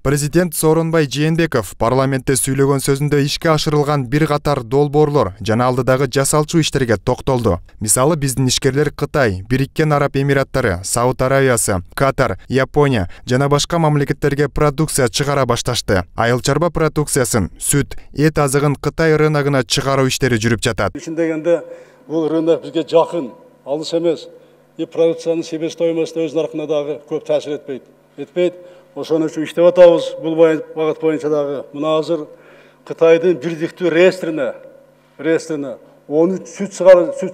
Президент Сооронбай Жээнбеков парламентте сүйлөгөн сөзүндө ишке ашырылган бир катар долбоорлор жана алдыдагы жасалчу иштерге токтолду. Мисалы, биздин ишкерлер Кытай, Бириккен Араб Эмираттары, Сауд Аравиясы, Катар, Япония жана башка мамлекеттерге продукция чыгара башташты. Айыл чарба продукциясын, сүт, эт азыгын Кытай рыногуна чыгаруу иштери жүрүп жатат. Дегенде бул рынок бизге жакын, алыс эмес. Продукциянын себестоимосуна өз наркына дагы көп таасир этпейт. Ошону үчүн иштеп атабыз. Бул багыт боюнча дагы мына азыр Кытайдын бирдиктүү реестрине 13 сүт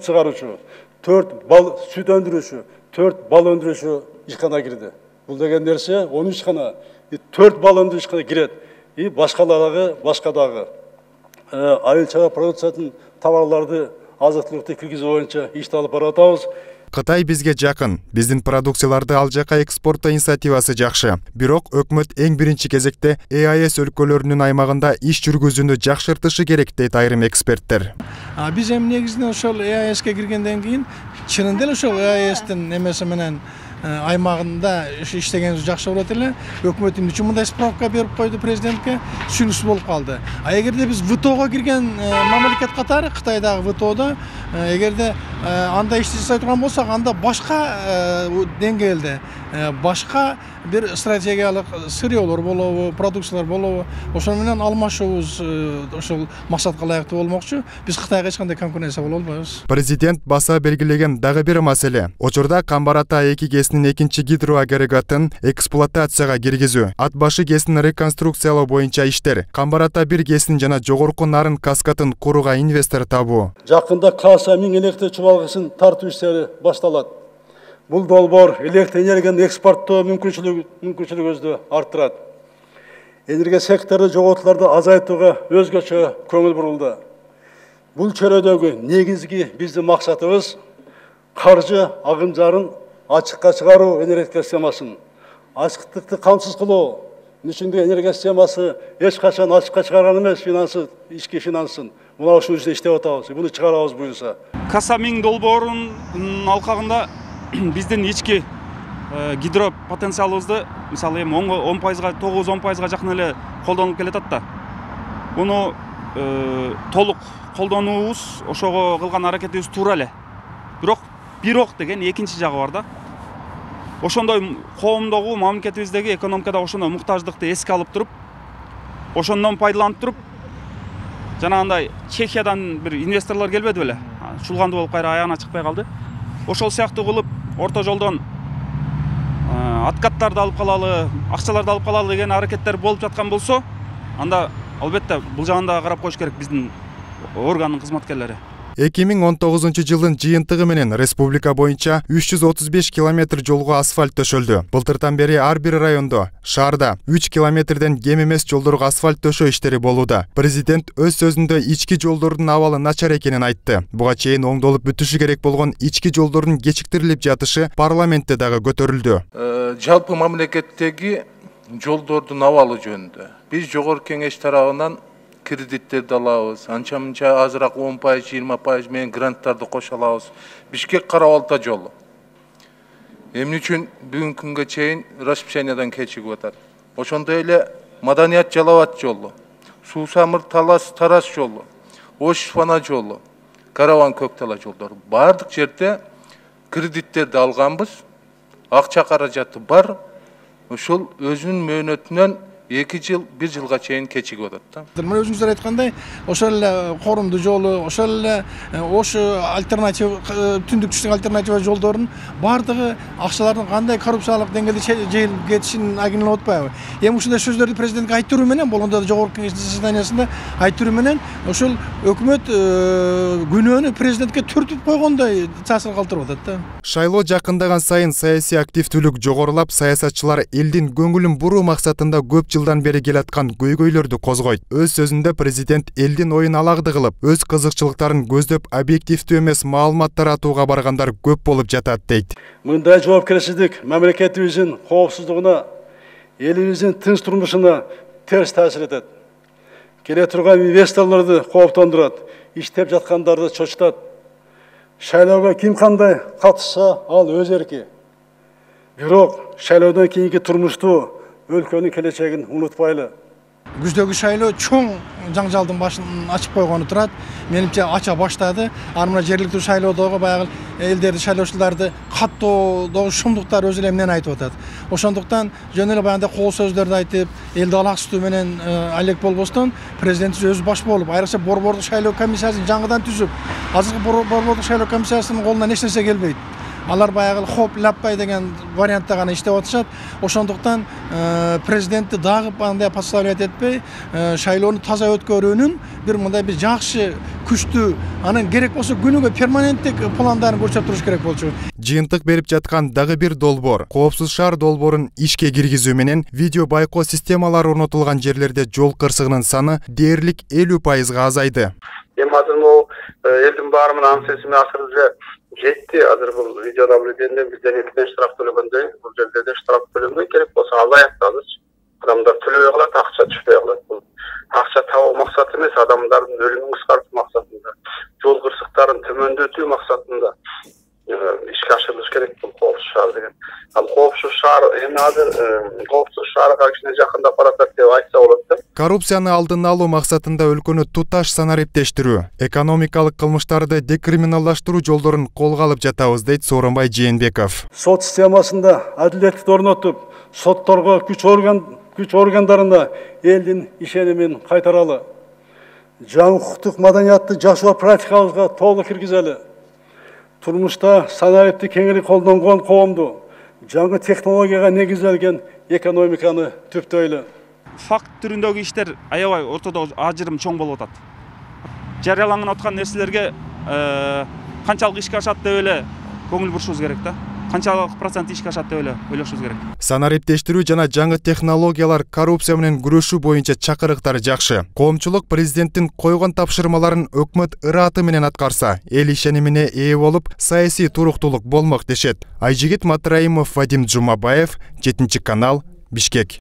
чыгаруучу, 4 бал сүт өндүрүүчү, 4 бал өндүрүүчү ишкана кирди. Бул деген нерсе 13 ишкана, 4 бал өндүрүүчү ишкана кирет. Башка дагы айыл чарба продукциянын товарларды азык-түлүктү киргизүү боюнча ишти алып баратабыз. Кытай бизге жакын, биздин продукцияларды ал жака экспорттоо инициативасы жакшы. Бирок өкмөт эң биринчи кезекте ЭАЭС өлкөлөрүнүн аймагында иш жүргүзүүнү жакшыртышы керек дейт айрым эксперттер. Биз эми негизинен ошол ЭАЭСке киргенден кийин чынында эле ошол ЭАЭСтин эмеси менен аймагында иштегенибиз жакшы болот эле. Өкмөт эмне үчүн мындай справка берип койду президентке, түшүнүксүз болуп калды. Эгерде биз ВТОго кирген мамлекет катары, Кытайдагы ВТОдо эгерде анда ишти жасай турган болсок, анда башка деңгээлде, башка бир стратегиялык сырьёлор болобу, продукциялар болобу, ошол менен алмашуубуз ошол максатка ылайыктуу болмокчу. Биз Кытайга эч кандай конкуренция боло албайбыз. Президент баса белгилеген дагы бир маселе. Учурда Камбар Ата 2 ГЭСинин экинчи гидроагрегатын эксплуатацияга киргизүү, Ат башы ГЭСин реконструкциялоо боюнча иштер, Камбар Ата 1 ГЭСин жана жогорку Нарын каскатын курууга инвестор табуу. Жакында Каса 1000 электр чубалгысын тартуу иштери башталат. Бул долбоор электр энергияны экспорттоо мүмкүнчүлүгүбүздү арттырат. Энергия сектору жоготууларды азайтууга өзгөчө көңүл бурулду. Бул чөйрөдөгү негизги биздин максатыбыз каржы агымжарын ачыкка чыгаруу энергетика системасын, ачыктыкты камсыз кылуу. Үчүндө энергия системасы эч качан ачыкка чыгарган эмес, ички финансын. Мына ушул иште иштеп атабыз. Буну чыгарабыз буюрса. Каса 1000 долбоорунун алкагында биздин ички гидро потенциалыбызды мисалы эми 10%, 9-10%га жакын эле колдонуп келатат да. Буну толук колдонуубуз, ошого кылган аракетибиз туура эле. Бирок деген экинчи жагы бар да. Ошондой коомдогу, мамлекетибиздеги экономикада ошондой муктаждыкты эске алып туруп, ошондон пайдаланып туруп, жанагындай Чехиядан бир инвесторлор келбеди беле? Чулгандуу болуп кайра аягына чыкпай калды. Ошол сыяктуу кылып, орто жолдон откаттарды алып калалы, акчаларды алып калалы деген аракеттер болуп жаткан болсо, анда албетте бул жагында карап коюш керек биздин органдын кызматкерлери. 2019 жыйынтыгы менен республика боюнча 335 километр жолго асфальт төшөлдү. Былтыртан бери ар бир райондо, шаарда 3 километрден кем эмес жолдорго асфальт төшөө иштери болууда. Президент өз сөзүндө ички жолдордун абалы начар экенин айтты. Буга чейин оңдолуп бүтүшү керек болгон ички жолдордун кечиктирилип жатышы парламентте дагы көтөрүлдү. Жалпы мамлекеттеги жолдордун абалы жөнүндө биз жогорку кеңеш тарабынан кредиттерди алабыз. Анча-мынча азыраак 10%, 20% менен гранттарды кошо алабыз. Бишкек Кара-Балта жолу. Эмне үчүн бүгүнкү күнгө чейин расписаниядан кечигип атат? Ошондой эле Маданият Жалалабад жолу, Суу-Самыр Тарас жолу, Ош-Фана жолу, Караван-Көктала жолдору. Бардык жерде кредиттерди алганбыз. Акча каражаты бар. Ошол өзүнүн мөөнөтүнөн 2 жыл, 1 жылга чейин кечигип атат да. Мына өзүңүздөр айткандай, ошол эле Корумду жолу, ошол эле Ош альтернатива, түндүк түштүк альтернатива жолдорунун бардыгы акчалардын кандай коррупциялык деңгээлде жайылып кетишин агинелеп атпайбы? Эми ушундай сөздөрдү президентке айттыруу менен, болгондо да жогорку кеңештин заседаниясында айттыруу менен ошол өкмөт күнөөнү президентке түртүп койгондой таасир калтырып атат да. Шайлоо жакындаган сайын саясий активдүүлүк жогорулап, саясатчылар элдин көңүлүн буруу максатында көп жылдан бери келаткан көйгөйлөрдү козгойт. Өз сөзүндө президент элдин оюн алагды кылып, өз кызыкчылыктарын көздөп объективдүү эмес маалымат таратууга баргандар көп болуп жатат дейт. Мындай жоопкерчилик мамлекетибиздин коопсуздугуна, элибиздин тынч турмушуна терс таасир этет. Келе турган инвесторлорду кооптондурат, иштеп жаткандарды чочутат. Шайлоого ким кандай катышса, ал өз эрки. Бирок шайлоодон кийинки турмушту өлкөнүн келечегин унутпайлы. Күздөгү шайлоо чоң жаңжалдын башын ачып койгону турат. Менимче ача баштады. Ар мына жергиликтүү шайлоодогу баягы элдерди шайлоочуларды каттоодогу шумдуктар өзү эле эмнени айтып атат. Ошондуктан жөн эле баягындай кол сөздөрдү айтып, элди алаксытуу менен алек болбостон президентибиз өзү баш болуп, айрыкча борбордук шайлоо комиссиясын жаңыдан түзүп, азыркы борбордук шайлоо комиссиясынын колунан эч нерсе келбейт. Алар баягы хоп ляппай деген вариантта гана иштеп атышат. Ошондуктан президентти дагы андай подставлять этпей, шайлоону таза өткөрүүнүн бир мындай бир жакшы, күчтүү, анан керек болсо күнүгө перманенттик пландарын көрсөтүп туруш керек болчу. Жыйынтык берип жаткан дагы бир долбоор коопсуз шаар долбоорун ишке киргизүү менен видео байкоо системалары орнотулган жерлерде жол кырсыгынын саны дээрлик 50% азайды. Эми азыр могу элдин баары менен аң сесиме азыр уже жетти. Азыр бул видеонаблюдениеден бизден 2 штраф төлөгөндөй, бул жерде де штраф төлөнбөй, керек болсо азайат азырчы. Адамдар төлөбөй калат, акча түшпөй калат. Бул акча табуу максаты эмес, адамдардын өлүмүн кыскартуу максатында, жол кырсыктарын төмөндөтүү максатында ишке ашырылыш керек бул коопсуз шаар деген. Ал коопсуз шаар эми азыр коопсуз шаарга кичине жакындап баратат деп айтса болот да. Коррупцияны алдын алуу максатында өлкөнү туташ санариптештирүү, экономикалык кылмыштарды декриминалдаштыруу жолдорун колго алып жатабыз, дейт Сооронбай Жээнбеков. Сот системасында адилеттикти орнотуп, сотторго күч органдарына элдин ишенимин кайтаралы. Жаңы укуктук маданиятты жашоо практикабызга толук киргизели. Турмушта санариптик кеңири колдонгон коомду жаңы технологияга негизделген экономиканы түптөйлү. Факт түрүндөгү иштер аябай ортодо ажырым чоң болуп атат. Жарыяланып аткан нерселерге канчалык ишке ашат деп эле көңүл бурушубуз керек да. Канчалык процент ишке ашат деп эле ойлошубуз керек. Санариптештирүү жана жаңы технологиялар коррупция менен күрөшүү боюнча чакырыктар жакшы. Коомчулук президенттин койгон тапшырмаларын өкмөт ырааты менен аткарса, эл ишенимине ээ болуп, саясий туруктуулук болмок дешет. Айжигит Матраимов, Вадим Жумабаев, 7 канал, Бишкек.